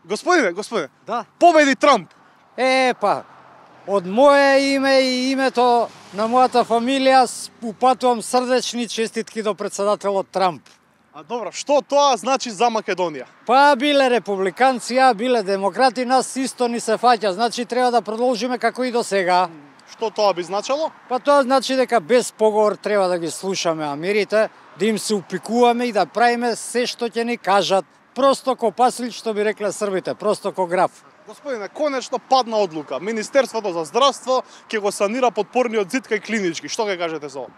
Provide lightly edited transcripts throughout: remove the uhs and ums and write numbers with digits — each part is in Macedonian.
Господине, Да. победи Трамп. Од мое име и името на мојата фамилија упатувам срдечни честитки до председателот Трамп. А добро, што тоа значи за Македонија? Биле републиканци, биле демократи, нас исто ни се фаќа, значи треба да продолжиме како и до сега. Што тоа би значело? Тоа значи дека без поговор треба да ги слушаме америте, да им се упикуваме и да правиме се што ќе ни кажат. Просто ко паслик, што би рекле србите, просто ко граф. Господине, конечно падна одлука. Министерството за здравство ќе го санира подпорниот зид кај клинички. Што ќе кажете за ова?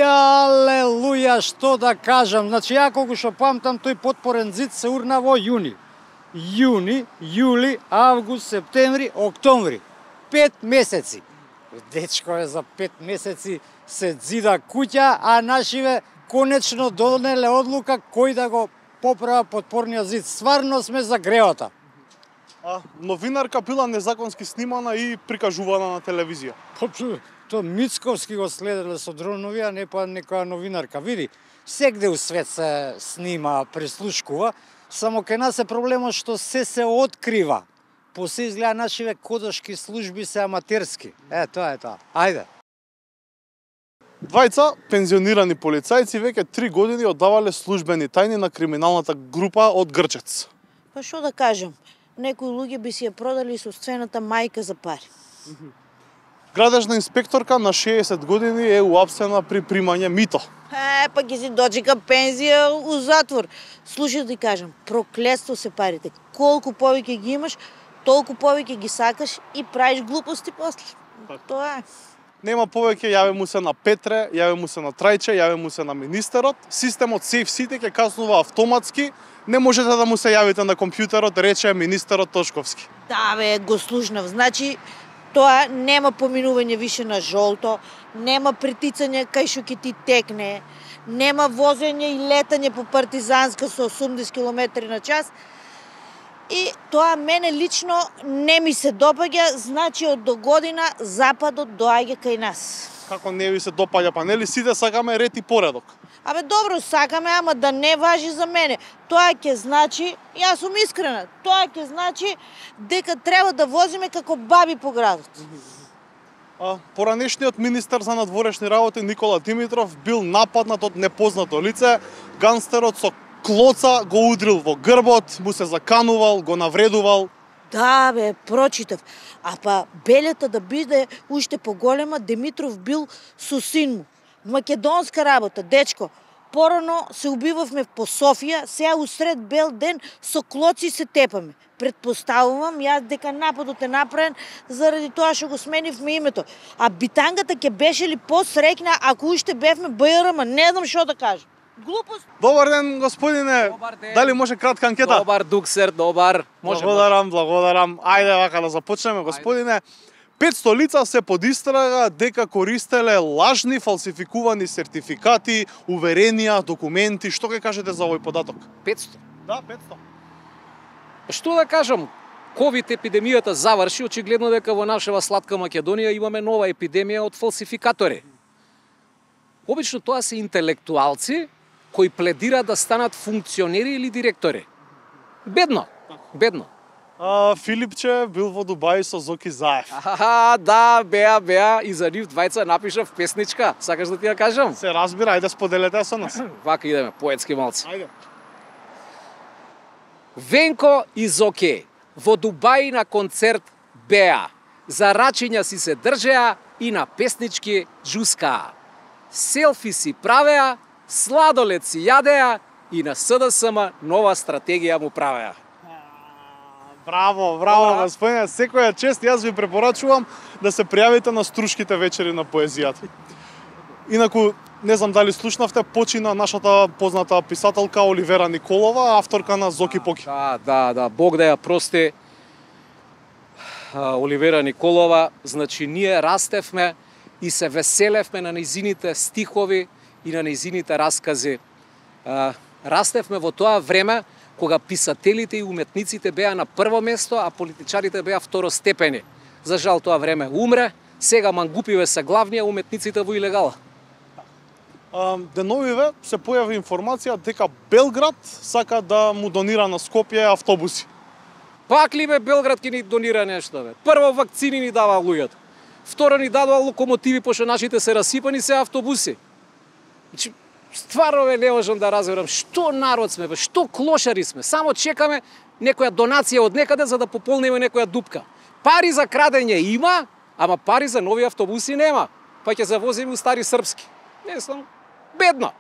Алелуја, што да кажам. Значи, ја колку што памтам, тој подпорен зид се урна во јуни. Јуни, јули, август, септември, октомври. 5 месеци. Дечко за 5 месеци се зида куќа, а нашиве конечно донеле одлука кој да го поправа подпорниот зид. Стварно сме за греота. Новинарка била незаконски снимана и прикажувана на телевизија. Тоа Мицковски го следеле со дронови, а не па некоја новинарка. Види, сегде у свет се снима, прислушкува, само кај нас е проблемот што се открива. После изгледа нашиве кодошки служби се аматерски. Тоа е тоа. Ајде. Двајца пензионирани полицајци веќе 3 години оддавале службени тајни на криминалната група од Грчец. Па што да кажам, некои луѓе би си ја продали собствената мајка за пари. Градежна инспекторка на 60 години е уапсена при примање мито. Па ќе си дочека пензија у затвор. Слушай да ти кажам, проклетство се парите. Колку повеќе ги имаш, толку повеќе ги сакаш и правиш глупости после. Тоа е. Нема повеќе, јави му се на Петре, јави му се на Трајче, јави му се на министерот. Системот SafeCity ќе казнува автоматски. Не можете да му се јавите на компјутерот, рече министерот Тошковски. Да бе, го слушнав. Значи, тоа нема поминување више на жолто, нема притицање кај што ќе ти текне, нема возење и летање по партизанска со 80 км на час. И тоа мене лично не ми се допаѓа, значи од до година Западот доаѓа кај нас. Како не ви се допаѓа, па нели сите сакаме ред и поредок? Добро, сакаме, ама да не важи за мене. Тоа ќе значи, јас сум искрена, тоа ќе значи дека треба да возиме како баби по градот. Поранешниот министер за надворешни работи Никола Димитров бил нападнат од непознато лице. Ганстерот со клоца го удрил во грбот, му се заканувал, го навредувал. Да бе, прочитав. Па белјата да биде уште поголема, Димитров бил со син му. Македонска работа, дечко. Порано се убивавме по Софија, сега усред бел ден со клоци се тепаме. Предпоставувам јас дека нападот е направен заради тоа што го сменивме името. Битангата ќе беше ли посрекна ако уште бевме БРМ, не знам што да кажам. Глупост. Добар ден, господине. Добар ден. Дали може кратка анкета? Добар, Дуксер, добар. Благодарам. Ајде вака да започнеме, господине. 500 лица се под истрага дека користеле лажни, фалсификувани сертификати, уверенија, документи. Што ќе кажете за овој податок? 500. Да, 500. Што да кажам? Ковид епидемијата заврши, очигледно дека во нашава сладка Македонија имаме нова епидемија од фалсификатори. Обично тоа се интелектуалци кои пледираат да станат функционери или директори. Бедно. Филипче бил во Дубај со Зоки Заев. Да, беа, и за нив двајца напишав песничка. Сакаш да ти ја кажам? Се разбира, ајде споделете со нас. Вака идеме, поетски малци. Ајде. Венко и Зоке во Дубај на концерт беа. За рачиња си се држеа и на песнички джускаа. Селфи си правеа, сладолед си јадеа и на СДСМ нова стратегија му правеа. Браво, господине, секоја чест. Јас ви препорачувам да се пријавите на Струшките вечери на поезијата. Инаку, не знам дали слушнавте, почина нашата позната писателка Оливера Николова, авторка на Зоки Поки. Да, Бог да ја прости. Оливера Николова, значи ние растевме и се веселевме на нејзините стихови и на нејзините раскази. Растевме во тоа време кога писателите и уметниците беа на прво место, а политичарите беа второстепени. За жал тоа време умре, сега мангупиве се главни, а уметниците во илегала. деновиве се појави информација дека Белград сака да му донира на Скопје автобуси. Пак ли бе Белград ќе ни донира нешто бе? Прво вакцини ни дава луѓето. Второ ни дадува локомотиви пошто нашите се расипани, се автобуси. Значи стварно бе не можам да разберам што народ сме бе, што клошари сме. Само чекаме некоја донација од некаде за да пополниме некоја дупка. Пари за крадење има, ама пари за нови автобуси нема. Па ќе се возиме у стари српски. Не знам, бедно.